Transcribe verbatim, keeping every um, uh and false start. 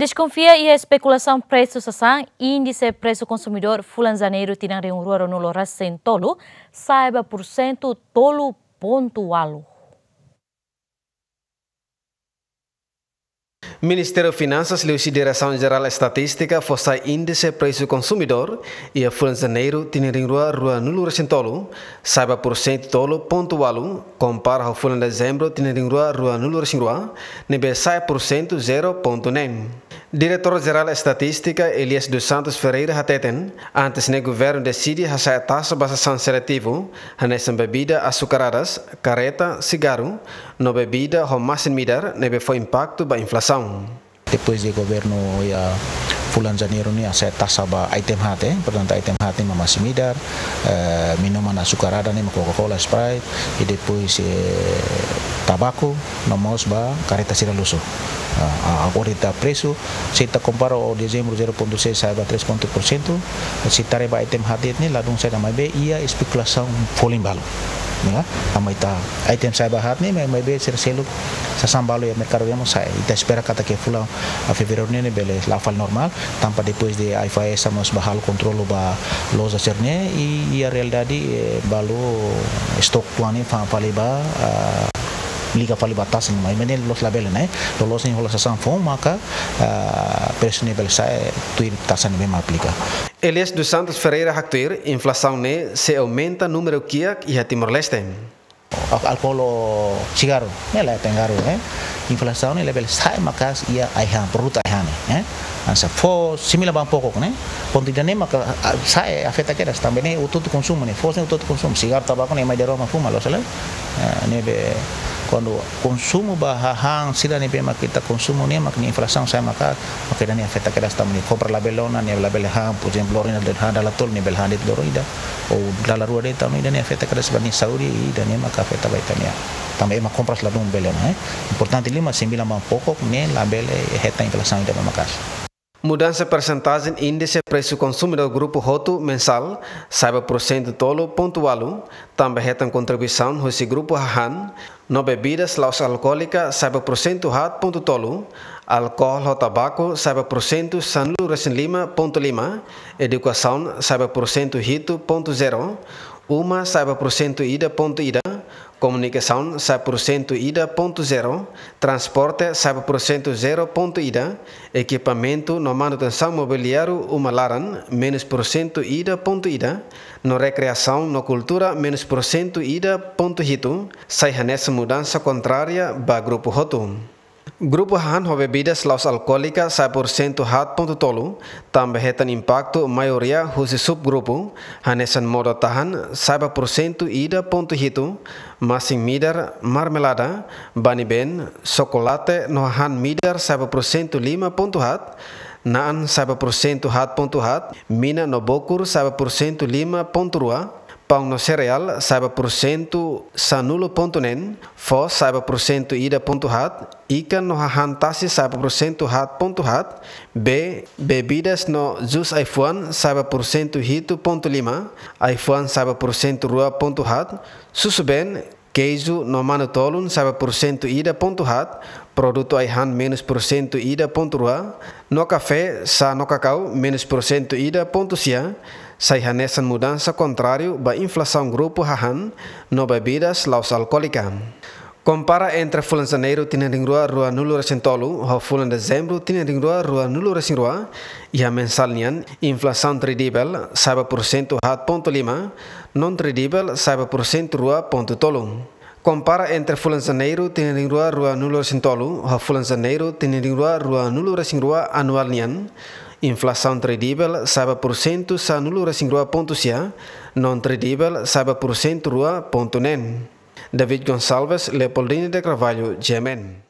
Deskonfia iha espekulasaun presu sasán, índise presu konsumidór fulan Janeiru tinan rihun rua ruanulu resin tolu sa'e ba pursentu tolu pontu ualu. Ministériu Finansas liuhusi Diresaun Jerál Estatístika fó sai índise presu konsumidór iha fulan Janeiru tinan rihun rua ruanulu resin tolu sa'e ba pursentu tolu pontu ualu, kompara ho fulan Dezembru tinan rihun rua ruanulu resin rua, ne'ebé sa'e pursentu zero pontu neen. Diretór Jerál Estatístika Elias dos Santos Ferreira hateten, antes ne'e governu deside hasa'e taxa ba sasán seletivu, hanesan bebida asukaradas, kareta, sigarru, no bebida ho masin-midar ne'ebé fó impaktu ba inflasaun. Depois de governu iha fulan Janeiru ne'e hasa'e taxa ba item haat, eh, portantu item haat ne'e mak masin-midar, eh, minuman asukaradas ne'e mak Coca-Cola, Sprite, i depois, eh, tabaku, no mós ba kareta sira luxu. Ah, ah, agora ita presu, se ita kompara ho Dezembru zero pontu seis sa'e ba três pontu por cento, se ita haree ba item haat de'it ne'e ladún saida, maibé iha espekulasaun folin balu. Ya, tanba ita item sa'e ba haat ne'e, mai, maibé sira seluk sasán balu iha merkadu nian mós sa'e. Ita espera katak iha fulan, ah, Fevereiru ne'e, ne'e bele la'o fali normál, tanba depois de AIFAESA mós bá halo kontrolu ba loja sira-ne'e, i, iha realidade, eh, balu estok tuan ne'e fa-, fali ba, ah, liga fali ba taxa ne'e, maibé ne'e loloos labele, ne'e. Loloos ne'e hola sasán foun maka, ah, presu ne'e bele sa'e tuir taxa ne'ebé mak aplika. Elias dos Santos Ferreira haktuir, inflasaun ne'e sei aumenta númeru kiak iha Timor-Leste. Al-, álkol ho sigarru, ne'e la pengaruh, eh. Inflasaun ne'e labele sa'e maka'as iha ai-han, produtu ai-han ne'e, eh. Hanesan fó, similar ba pokok ne'e. Pontu ida-ne'e maka, ah, sa'e afeta kedas tanba ne'e hotu-hotu konsumu ne'e, foos ne'e hotu-hotu konsumu, sigarru, tabaku ne'e mai dala rua mak fuma, loos ka lae. Eh, ne'ebé kuandu konsumu ba hahán sira ne'ebé mak ita konsumu ne'e mak nia inflasaun sa'e maka'as, maka ida-ne'e afeta kedas tanba ne'e kompra labele ona, ne'e labele han, por ezemplu, loron ida han dala tolu, ne'e bele han de'it loron ida, ou dala rua de'it, tanba ida-ne'e afeta kedas ba nia saúde, i ida-ne'e maka afeta ba ita-nia. Tanba ema kompras ladún bele ona, eh. Importante liu mak similar ba pokok ne'e labele hetan inflasaun ida ba maka'as. Mudansa persentajen índise presu konsumidór grupu hotu mensál, sa'e ba pursentu tolu pontu ualu, tanba hetan kontribuisaun husi grupu hahán, no bebidas la'ós alkoólika sa'e ba pursentu haat pontu tolu, álkol ho tabaku sa'e ba pursentu sanulu resin lima pontu lima, edukasaun sa'e ba pursentu hitu pontu zero, uma sa'e ba pursentu ida pontu ida, komunikasaun sa'e pursentu ida pontu zero, transporte sa'e ba pursentu zero pontu ida, ekipamentu no manutensaun mobiliáriu uma laran menus pursentu ida pontu ida, no rekreasaun no kultura menus pursentu ida pontu hitu, sai hanesan mudansa kontrária ba grupu hotu. Grupu hahán ho bebidas la'ós alkoólika sa'e pursentu haat pontu tolu, tanba hetan impaktu maioria husi subgrupu, hanesan modo-tahan sa'e ba pursentu ida pontu hitu, masin-midar, marmelada, bani-been, xokolate no hahán midar sa'e ba pursentu lima pontu haat, na'an sa'e ba pursentu haat pontu haat, mina no bokur sa'e ba pursentu lima pontu rua, paun no sereál sa'e ba pursentu sanulu pontu neen, foos sa'e ba pursentu ida pontu haat, ikan no hahán tasi sa'e ba pursentu haat pontu haat, bee, bebidas no jus ai-fuan sa'e ba pursentu hitu pontu lima, ai-fuan sa'e ba pursentu rua pontu haat, susubeen, keiju no manu-tolun sa'e ba pursentu ida pontu haat, produtu ai-han menus pursentu ida pontu rua, no kafé, xá no kakau menus pursentu ida pontu sia, sai hanesan mudansa kontráriu ba inflasaun grupu hahán no bebidas la'ós alkoólika. Kompara entre fulan Janeiru tinan rihun rua ruanulu resin tolu ho fulan Dezembru tinan rihun rua ruanulu resin rua, iha mensál nian, inflasaun kredibel sa'e ba pursentu haat pontu lima, non kredibel sa'e ba pursentu rua pontu tolu. Kompara entre fulan Janeiru tinan rihun rua ruanulu resin tolu ho fulan Janeiru tinan rihun rua ruanulu resin rua anuál nian, inflasaun kredibel sa'e ba pursentu sanulu resin rua pontu sia, non kredibel sa'e ba pursentu rua pontu neen. David Gonçalves, Leopoldine de Carvalho, G M N.